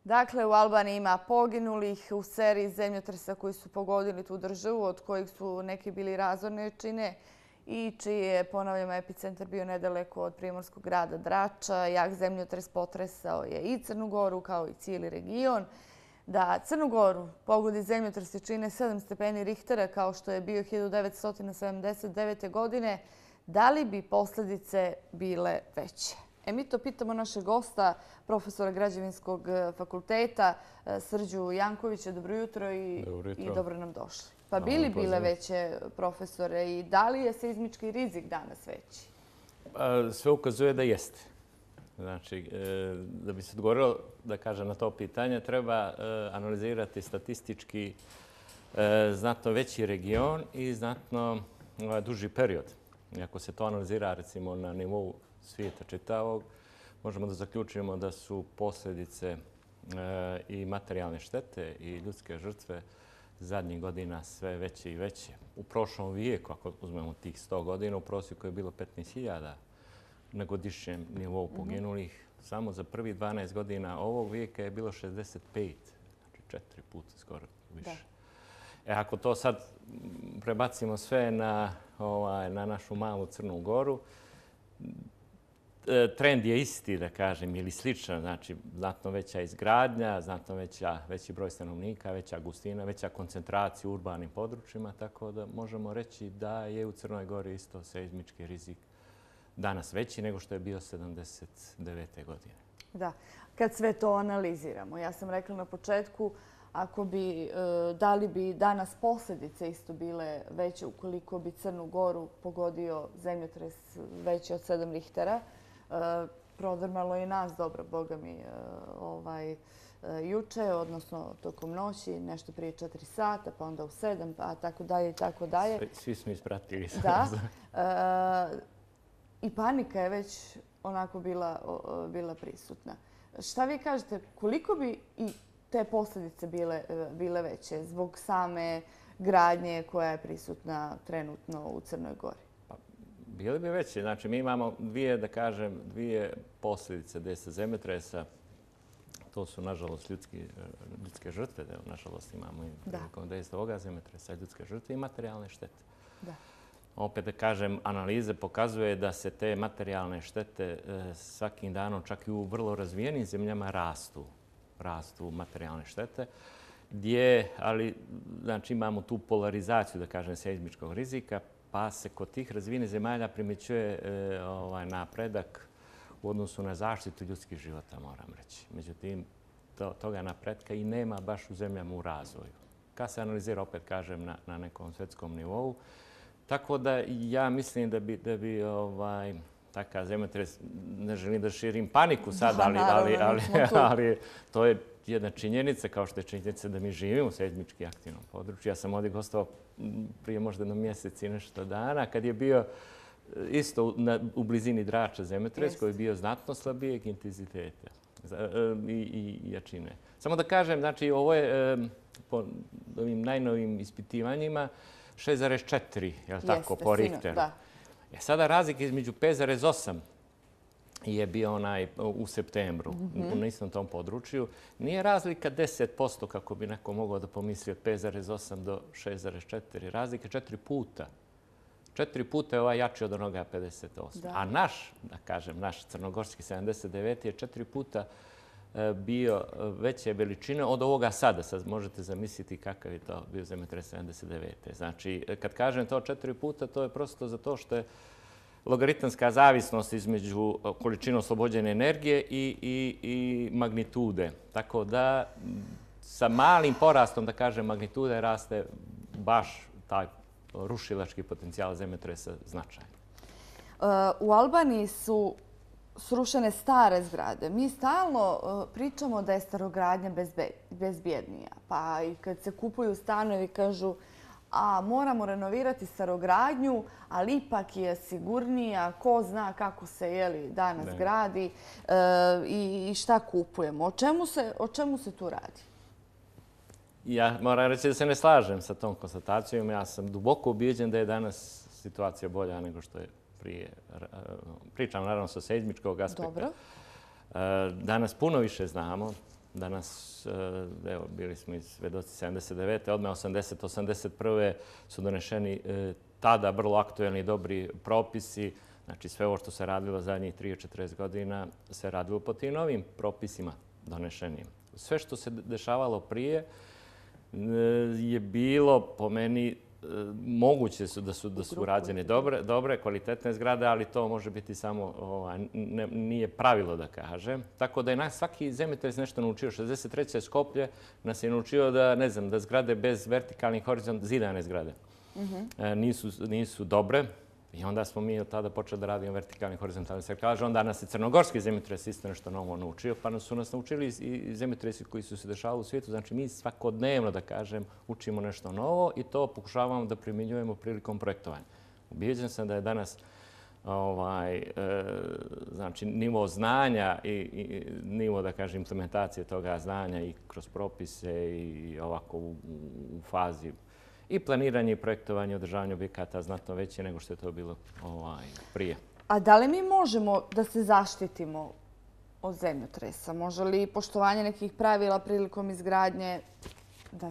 Dakle, u Albaniji ima poginulih u seriji zemljotresa koji su pogodili tu državu, od kojih su neki bili razorne jačine i čiji je, ponavljamo, epicentar bio nedaleko od primorskog grada Drača. Jak zemljotres potresao je i Crnu Goru kao i cijeli region. Da Crnu Goru pogodi zemljotres jačine 7 stepeni Richtera kao što je bio 1979. godine, da li bi posljedice bile veće? Mi to pitamo našeg gosta, profesora Građevinskog fakulteta, Srđu Jankovića. Dobro jutro i dobro nam došli. Pa bili bile veće, profesore, i da li je seizmički rizik danas veći? Sve ukazuje da jeste. Znači, da bi se odgovorilo, da kažem, na to pitanje, treba analizirati statistički znatno veći region i znatno duži period. I ako se to analizira, recimo, na nivou svijeta čitavog, možemo da zaključimo da su posljedice i materijalne štete i ljudske žrtve zadnjih godina sve veće i veće. U prošlom vijeku, ako uzmemo tih 100 godina, u prosjeku je bilo 15.000 na godišnjem nivou poginulih. Samo za prvi 12 godina ovog vijeka je bilo 65, znači 4 puta skoro više. Ako to sad prebacimo sve na našu malu Crnu Goru, trend je isti, da kažem, ili sličan. Znači, znatno veća izgradnja, znatno veći broj stanovnika, veća gustina, veća koncentracija u urbanim područjima, tako da možemo reći da je u Crnoj Gori isto seizmički rizik danas veći nego što je bio 79. godine. Da, kad sve to analiziramo. Ja sam rekla na početku, da li bi danas posljedice isto bile veće ukoliko bi Crnu Goru pogodio zemljotres veći od 7 Richtera. Prodrmalo i nas, dobro, boga mi, juče, odnosno tokom noći, nešto prije 4 sata, pa onda u 7, pa tako dalje i tako dalje. Svi smo ispratili. Da. I panika je već onako bila prisutna. Šta vi kažete, koliko bi i te posljedice bile veće zbog same gradnje koja je prisutna trenutno u Crnoj Gori? Bile bi veće. Znači, mi imamo dvije posljedice desa zemljotresa. To su, nažalost, ljudske žrtve. Nažalost, imamo i prilikom desa ovoga zemljotresa ljudske žrtve i materijalne štete. Opet da kažem, analize pokazuje da se te materijalne štete svakim danom, čak i u vrlo razvijenim zemljama, rastu materijalne štete, ali znači, imamo tu polarizaciju, da kažem, seizmičkog rizika, pa se kod tih razvijenih zemalja primjećuje napredak u odnosu na zaštitu ljudskih života, moram reći. Međutim, toga napretka i nema baš u zemljama u razvoju. Kad se analizira, opet kažem, na nekom svjetskom nivou. Tako da ja mislim da bi takav zemljotres, ne želim da širim paniku sad, ali to je jedna činjenica, kao što je činjenica da mi živimo u seizmički aktivnom području. Ja sam ovdje gostovao prije možda mjesec i nešto dana, kad je bio isto u blizini Drača zemljotres koji je bio znatno slabijeg intenziteta i jačine. Samo da kažem, znači ovo je po ovim najnovim ispitivanjima 6,4, je li tako, po Richteru. Sada razlika između 5,8 je bio u septembru na istom tom području. Nije razlika 10%, kako bi neko mogao da pomisli, od 5,8 do 6,4. Razlika 4 puta. 4 puta je jači od onoga 58. A naš crnogorski 79 je 4 puta bio veće veličine od ovoga sada. Sad možete zamisliti kakav je to bio zemljotres 79. Znači, kad kažem to 4 puta, to je prosto zato što je logaritamska zavisnost između količine oslobođene energije i magnitude. Tako da sa malim porastom, da kažem, magnitude raste baš taj rušilački potencijal zemljotresa značajan. U Albaniji su srušene stare zgrade. Mi stalno pričamo da je starogradnja bezbjednija. Pa i kad se kupuju stanovi kažu moramo renovirati starogradnju, ali ipak je sigurnija, ko zna kako se danas gradi i šta kupujemo. O čemu se tu radi? Ja moram reći da se ne slažem sa tom konstatacijom. Ja sam duboko ubijeđen da je danas situacija bolja nego što je prije. Pričam naravno sa seizmičkog aspekta. Danas puno više znamo. Danas, evo, bili smo iz svedoci 79. Odmah 80. 81. su donešeni tada vrlo aktuelni i dobri propisi. Znači, sve ovo što se radilo zadnjih 30-40 godina se radilo po tim novim propisima donešenim. Sve što se dešavalo prije je bilo, po meni, moguće da su rađene dobre, kvalitetne zgrade, ali to može biti samo, nije pravilo da kažem. Tako da je svaki zemljotres nešto naučio. 63. Skoplje nas je naučio da, ne znam, da zgrade bez vertikalnih horizonta, zidane zgrade, nisu dobre. I onda smo mi od tada počeli da radimo vertikalni horizontalni sektor. Onda nas je crnogorski zemljotres isto nešto novo naučio, pa su nas naučili i zemljotresi koji su se dešavali u svijetu. Znači, mi svakodnevno, da kažem, učimo nešto novo i to pokušavamo da primjenjujemo prilikom projektovanja. Ubijeđen sam da je danas znači, nivo znanja i nivo, da kažem, implementacije toga znanja i kroz propise i ovako u fazi i planiranje i projektovanje i održavanje objekata znatno veće nego što je to bilo prije. A da li mi možemo da se zaštitimo od zemljotresa? Može li poštovanje nekih pravila prilikom izgradnje da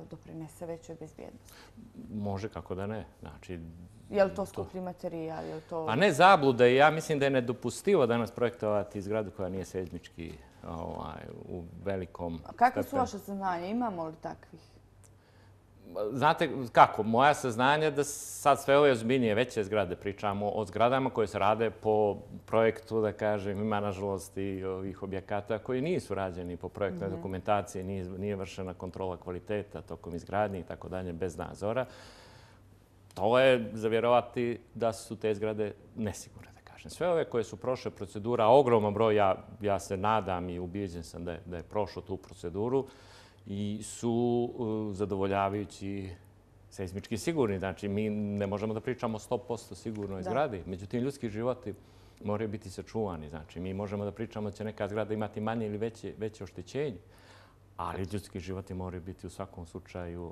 doprinese većoj bezbjednosti? Može, kako da ne. Znači, je li to skuplji materijal? Pa ne zablude. Ja mislim da je nedopustivo danas projektovati zgradu koja nije seizmički u velikom stepenu. Kakve su vaše saznanja? Imamo li takvih? Znate kako, moja saznanja je da sad sve ove ozbiljnije veće zgrade, pričamo o zgradama koje se rade po projektu, da kažem, ima nažalost i ovih objekata koji nisu rađeni po projektnoj dokumentaciji, nije vršena kontrola kvaliteta tokom izgradnje i tako dalje, bez nadzora. To je za vjerovati da su te zgrade nesigurne, da kažem. Sve ove koje su prošle procedura, ogroman broj, ja se nadam i ubijeđen sam da je prošlo tu proceduru, i su zadovoljavajući seizmički sigurni. Znači, mi ne možemo da pričamo 100% sigurnoj zgradi. Međutim, ljudski životi moraju biti sačuvani. Znači, mi možemo da pričamo da će neka zgrada imati manje ili veće oštećenje, ali ljudski životi moraju biti u svakom slučaju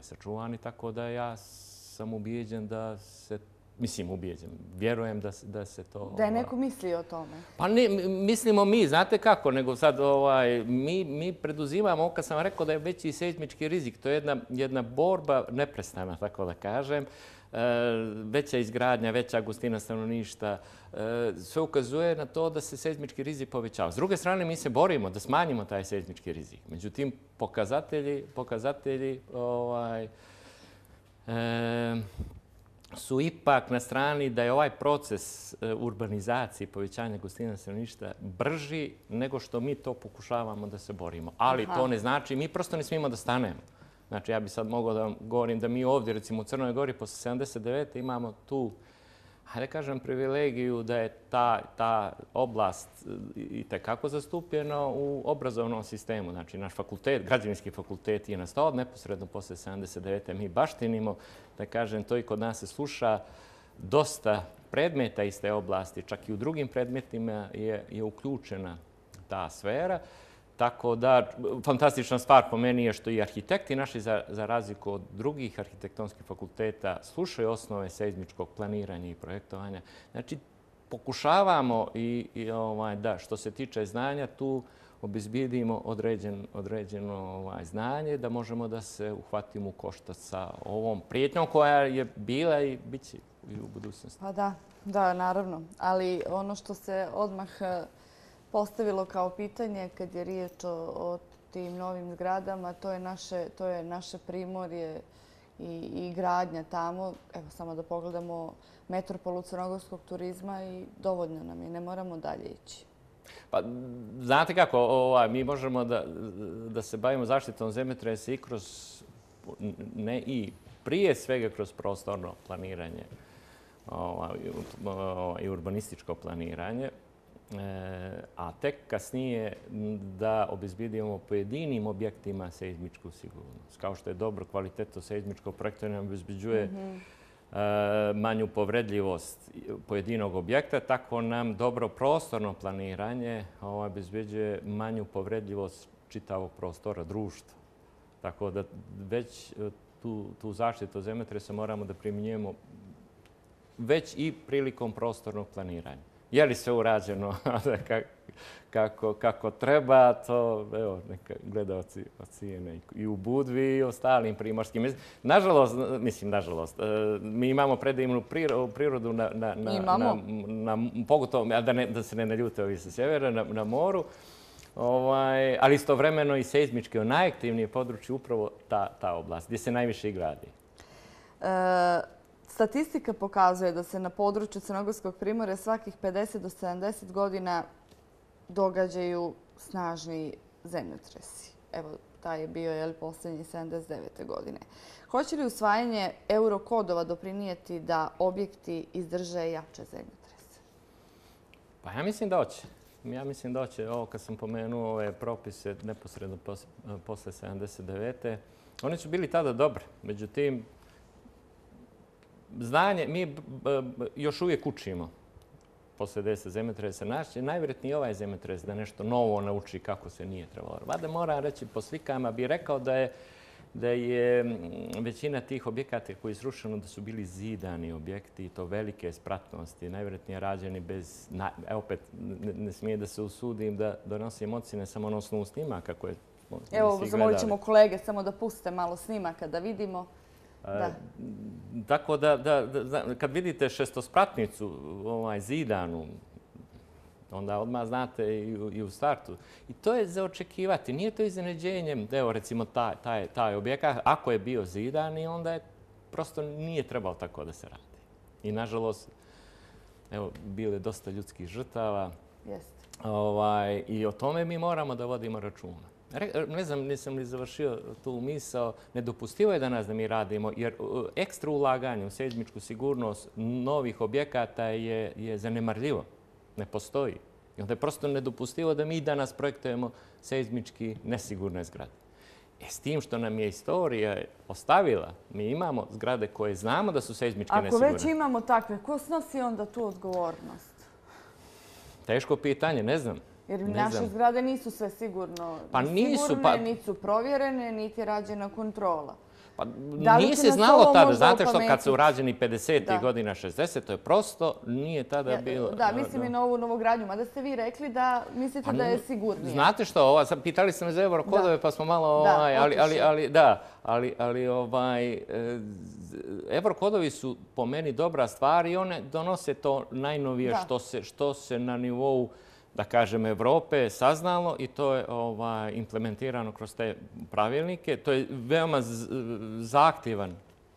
sačuvani. Tako da ja sam ubijeđen da se ubijeđen. Vjerujem da se to... Da je neko mislio o tome? Pa ne, mislimo mi, znate kako, nego sad mi preduzimamo, kad sam rekao da je veći seizmički rizik, to je jedna borba neprestana, tako da kažem, veća izgradnja, veća gustina stanovništva, sve ukazuje na to da se seizmički rizik povećava. S druge strane, mi se borimo da smanjimo taj seizmički rizik. Međutim, pokazatelji su ipak na strani da je ovaj proces urbanizacije i povećanja gustine stanovništva brži nego što mi to pokušavamo da se borimo. Ali to ne znači, mi prosto ne smijemo da stanemo. Znači, ja bih sad mogao da vam govorim da mi ovdje, recimo u Crnoj Gori, posle 79. imamo tu, hajde kažem, privilegiju da je ta oblast itekako zastupljena u obrazovnom sistemu. Znači, naš fakultet, građevinski fakultet je nastao neposredno posle 79. Mi baštinimo, da kažem, to i kod nas se sluša dosta predmeta iz te oblasti, čak i u drugim predmetima je uključena ta sfera. Tako da, fantastična stvar po meni je što i arhitekti naši, za razliku od drugih arhitektonskih fakulteta, slušaju osnove seizmičkog planiranja i projektovanja. Znači, pokušavamo da, što se tiče znanja, tu obezbijedimo određeno znanje, da možemo da se uhvatimo u koštac sa ovom prijetnjom koja je bila i bit će i u budućnosti. Pa da, naravno. Ali ono što se odmah postavilo kao pitanje kad je riječ o tim novim zgradama, to je naše primorje i gradnja tamo. Evo, samo da pogledamo metropolu crnogorskog turizma i dovoljno nam je, ne moramo dalje ići. Pa, znate kako, mi možemo da se bavimo zaštitom zemljotresa i kroz, ne i prije svega kroz prostorno planiranje i urbanističko planiranje, a tek kasnije da obezbijedimo pojedinim objektima seizmičku sigurnost. Kao što je dobro kvalitetno seizmičko projektovanje obezbeđuje manju povredljivost pojedinog objekta, tako nam dobro prostorno planiranje obezbeđuje manju povredljivost čitavog prostora društva. Tako da već tu zaštitu zemljotresa moramo da primjenjujemo već i prilikom prostornog planiranja. Je li sve urađeno kako treba, to evo, neka gledalci ocijene i u Budvi i ostalim primorskim. Nažalost, mi imamo predivnu prirodu pogotovo, da se ne naljute ovi sa sjevera, na moru, ali istovremeno i seizmički najaktivnije područje upravo ta oblast gdje se najviše i gradi. Statistika pokazuje da se na području Crnogorskog primorja svakih 50 do 70 godina događaju snažni zemljotresi. Evo, taj je bio posljednji 79. godine. Hoće li usvajanje eurokodova doprinijeti da objekti izdrže jače zemljotrese? Pa ja mislim da hoće. Ovo kad sam pomenuo ove propise neposredno posle 79. Oni su bili tada dobri. Međutim, znanje, mi još uvijek učimo posle 10 zemljotresa. Naš je najvjerojatnije ovaj zemljotres da nešto novo nauči kako se nije trebalo. Vada moram reći, po slikama bi rekao da je većina tih objekata koji je srušeno da su bili zidani objekti i to velike spratnosti, najvjerojatnije rađeni bez... Opet, ne smije da se usudim da donosim ocjene samo na osnovu snimaka koje smo svi gledali. Evo, zamolit ćemo kolege samo da puste malo snimaka da vidimo. Tako da kad vidite šestospratnicu zidanu, onda odmah znate i u startu. I to je za očekivati. Nije to iznenađenjem, evo recimo taj objekat, ako je bio zidan i onda je prosto nije trebalo tako da se radi. I nažalost, evo, bilo je dosta ljudskih žrtava. I o tome mi moramo da vodimo računa. Ne znam, nisam li završio tu misao, nedopustivo je danas da mi radimo, jer ekstra ulaganje u seizmičku sigurnost novih objekata je zanemarljivo. Ne postoji. I onda je prosto nedopustivo da mi danas projektujemo seizmički nesigurne zgrade. S tim što nam je istorija ostavila, mi imamo zgrade koje znamo da su seizmički nesigurne. Ako već imamo takve, ko snosi onda tu odgovornost? Teško pitanje, ne znam. Jer naše zgrade nisu sve sigurne, niti su provjerene, niti je rađena kontrola. Pa nije se znalo tada, znate što, kad su rađeni 50. godina 60. to je prosto nije tada bilo... Da, mislim i na ovu novogradnju, mada ste vi rekli da mislite da je sigurnije. Znate što, pitali ste me za eurokodove pa smo malo... Eurokodovi su po meni dobra stvar i one donose to najnovije što se na nivou, da kažem, Evrope saznalo i to je implementirano kroz te pravilnike. To je veoma zahtjevan.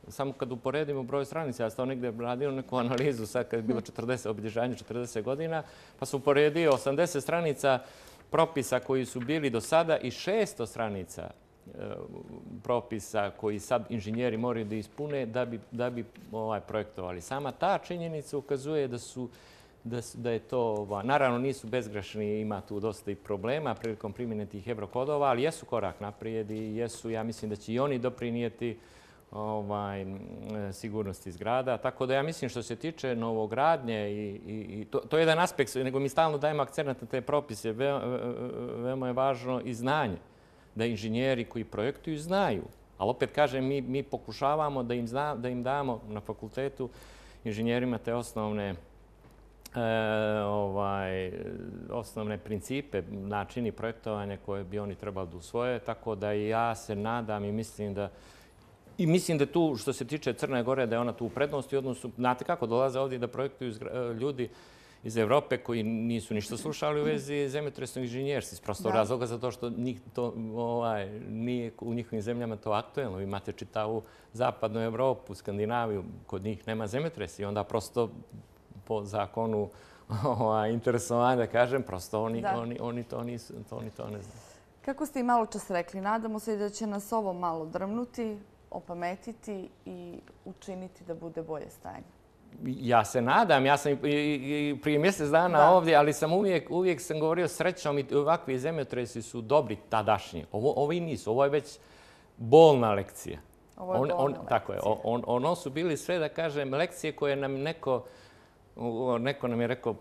Samo kad uporedimo broj stranica, ja sam negdje radio neku analizu sad kad je bilo obilježanje 40 godina, pa sam uporedio 80 stranica propisa koji su bili do sada i 600 stranica propisa koji sad inženjeri moraju da ispune da bi projektovali. Sama ta činjenica ukazuje da je to, naravno nisu bezgrešni, ima tu dosta i problema prilikom primjene tih eurokodova, ali jesu korak naprijed i jesu, ja mislim da će i oni doprinijeti sigurnosti zgrada. Tako da ja mislim što se tiče novogradnje i to je jedan aspekt, nego mi stalno dajemo akcenat na te propise, veoma je važno i znanje, da inženjeri koji projektuju znaju. Ali opet kažem, mi pokušavamo da im damo na fakultetu inženjerima te osnovne principe, načini projektovanja koje bi oni trebali da usvoje, tako da i ja se nadam i mislim da tu, što se tiče Crne Gore, da je ona tu u prednosti, odnosno, znate kako, dolaze ovdje da projektuju ljudi iz Evrope koji nisu ništa slušali u vezi zemljotresnog inženjerstva. Iz prostog razloga zato što nije u njihovim zemljama to aktuelno. Vi imate čitavu zapadnu Evropu, Skandinaviju, kod njih nema zemljotresa i onda prosto po zakonu interesovanja, da kažem, prosto oni to ne znaju. Kako ste i malo čas rekli, nadamo se da će nas ovo malo drmnuti, opametiti i učiniti da bude bolje stanje. Ja se nadam, ja sam i prije mjesec dana ovdje, ali uvijek sam govorio srećom i ovakvi zemljotresi su dobri tadašnji. Ovi nisu, ovo je već bolna lekcija. Tako je, ono su bili sve, da kažem, lekcije koje nam neko nam je rekao,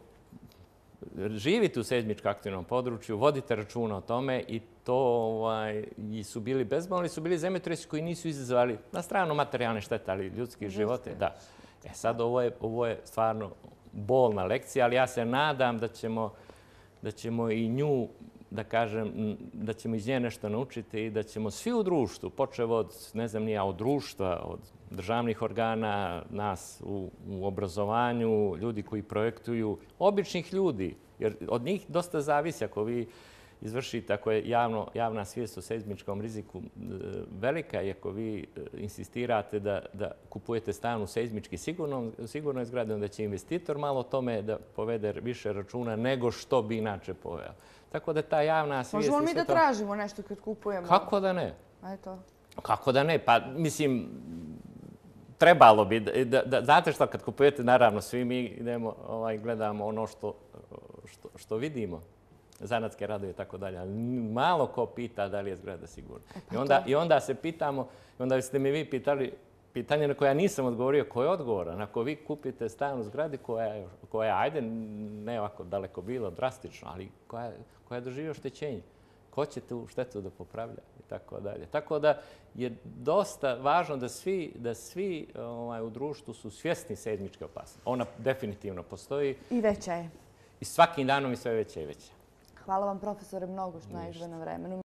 živite u seizmičko aktivnom području, vodite računa o tome i to su bili bezbolni, su bili zemljotresi koji nisu izazvali na stranu materijalne štete, ali ljudski živote, da. Sad ovo je stvarno bolna lekcija, ali ja se nadam da ćemo i nju, da kažem, da ćemo iz nje nešto naučiti i da ćemo svi u društvu, počev od, ne znam od društva, od državnih organa, nas u obrazovanju, ljudi koji projektuju, običnih ljudi, jer od njih dosta zavisi ako vi izvršite, ako je javna svijest o seizmičkom riziku velika i ako vi insistirate da kupujete stan u seizmički sigurnoj zgradi, onda će investitor malo o tome da povede više računa nego što bi inače poveo. Tako da ta javna svijest... Možemo mi da tražimo nešto kad kupujemo? Kako da ne? Eto. Kako da ne? Pa, mislim, trebalo bi. Znate što, kad kupujete, naravno, svi mi idemo, gledamo ono što vidimo. Zanatske radove i tako dalje. Ali malo ko pita da li je zgrada sigurna. I onda se pitamo, onda ste mi vi pitali pitanje na koje ja nisam odgovorio, ko je odgovoran? Ako vi kupite stan u zgradi koja ajde, ne ovako daleko bilo, drastično, ali koja je doživio oštećenje. Ko će tu štetu da popravlja i tako dalje. Tako da je dosta važno da svi u društvu su svjesni seizmičke opasnosti. Ona definitivno postoji. I veća je. I svakim danom i sve veća i veća. Hvala vam, profesore, mnogo što na vremenu.